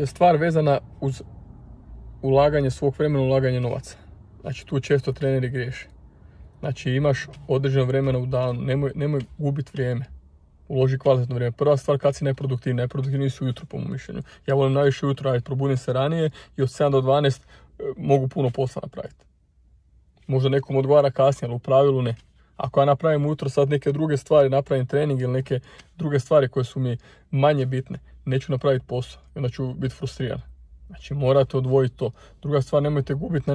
Stvar vezana uz ulaganje svog vremena, ulaganje novaca. Znači tu često treneri griješe. Znači imaš određeno vremena u danu, nemoj gubiti vrijeme. Uloži kvalitetno vrijeme. Prva stvar, kad si neproduktivni. Neproduktivni su ujutro, po mom mišljenju. Ja volim najviše ujutro raditi, probudim se ranije i od 7 do 12 mogu puno posla napraviti. Možda nekom odgovara kasnije, ali u pravilu ne. Ako ja napravim ujutro sad neke druge stvari, napravim trening ili neke druge stvari koje su mi manje bitne, neću napraviti posao i onda ću biti frustriran. Znači morate odvojiti to. Druga stvar, nemojte gubiti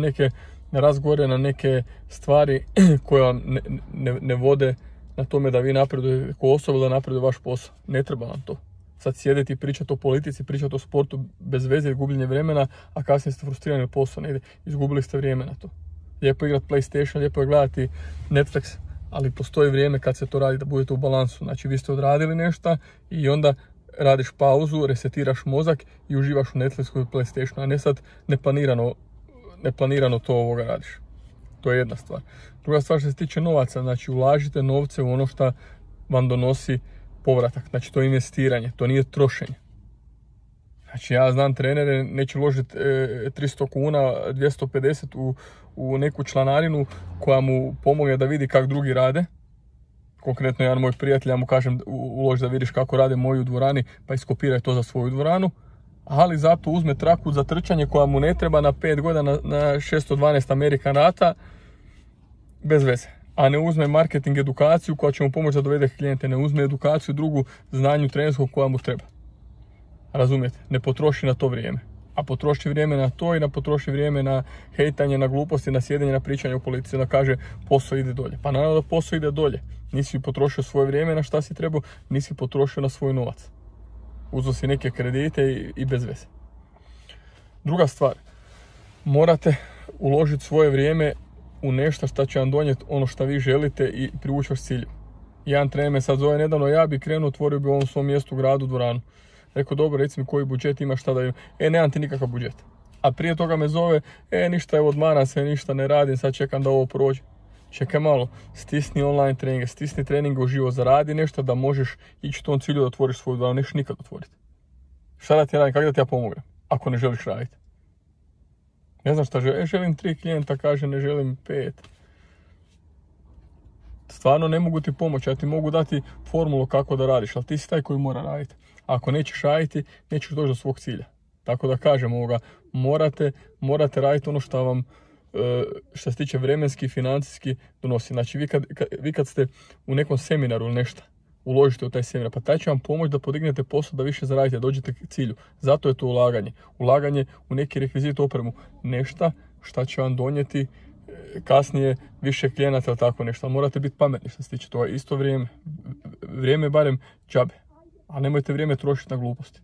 na razgovore, na neke stvari koje vam ne vode na tome da vi napredujete kao osoba, da napreduje vaš posao. Ne treba vam to. Sad sjediti i pričati o politici, pričati o sportu bez veze i gubljenje vremena, a kasnije ste frustrirani, posao ne ide. Izgubili ste vrijeme na to. Lijepo je igrati PlayStation, lijepo je gledati Netflix, ali postoji vrijeme kad se to radi da budete u balansu. Znači vi ste odradili nešto i onda radiš pauzu, resetiraš mozak i uživaš u Netflixu i PlayStationu, a ne sad neplanirano to radiš. To je jedna stvar. Druga stvar što se tiče novaca, znači ulažite novce u ono što vam donosi povratak. Znači to je investiranje, to nije trošenje. Znači ja znam trenere, neće uložiti 300 kuna, 250 u neku članarinu koja mu pomogne da vidi kako drugi rade. Konkretno jedan moj prijatelj, ja mu kažem uloži da vidiš kako rade moji u dvorani, pa iskopiraj to za svoju dvoranu. Ali zato uzme traku za trčanje koja mu ne treba na 5 godina na 612 American rata, bez veze. A ne uzme marketing edukaciju koja će mu pomoći da dovede klijente, ne uzme edukaciju drugu znanju trenerskog koja mu treba. Razumijete? Ne potroši na to vrijeme. A potroši vrijeme na to i potroši vrijeme na hejtanje, na gluposti, na sjedenje, na pričanje o politici, da kaže posao ide dolje. Pa naravno da posao ide dolje. Nisi potrošio svoje vrijeme na šta si trebao, nisi potrošio na svoj novac. Uzeo si neke kredite i bez veze. Druga stvar, morate uložiti svoje vrijeme u nešto što će vam donijeti ono što vi želite i privući vas cilju. Jedan trener me sad zove nedavno, ja bi krenuo, otvorio bi u ovom svom mjestu, gradu, dvoranu. Rekao, dobro, reci mi koji budžet imaš, šta da imam. Nemam ti nikakav budžet. A prije toga me zove, ništa, evo odmaram se, ništa ne radim, sad čekam da ovo prođe. Čekaj malo, stisni online treninge, stisni treninge uživo, zaradi nešto da možeš ići tom cilju da otvoriš svoju dvoranu, nećeš nikad otvoriti. Šta da ti radim, kako da ti ja pomognem, ako ne želiš raditi? Ne znam šta želim, želim 3 klijenta, kaže ne želim 5. Stvarno ne mogu ti pomoći, ja ti mogu dati formulu kako da radiš, ali ti si taj koji mora raditi. Ako nećeš raditi, nećeš doći do svog cilja. Tako da kažem morate raditi ono što vam, što se tiče vremenski i financijski donosi. Znači vi kad ste u nekom seminaru ili nešto, uložite u taj seminar, pa taj će vam pomoći da podignete posao, da više zaradite, da dođete k cilju. Zato je to ulaganje. Ulaganje u neki rekvizit, opremu. Nešto što će vam donijeti kasnije više klijenata ili tako nešto. Ali morate biti pametni što se tiče toga. Isto vrijeme. Vrijeme barem džabe. A nemojte vrijeme trošiti na gluposti.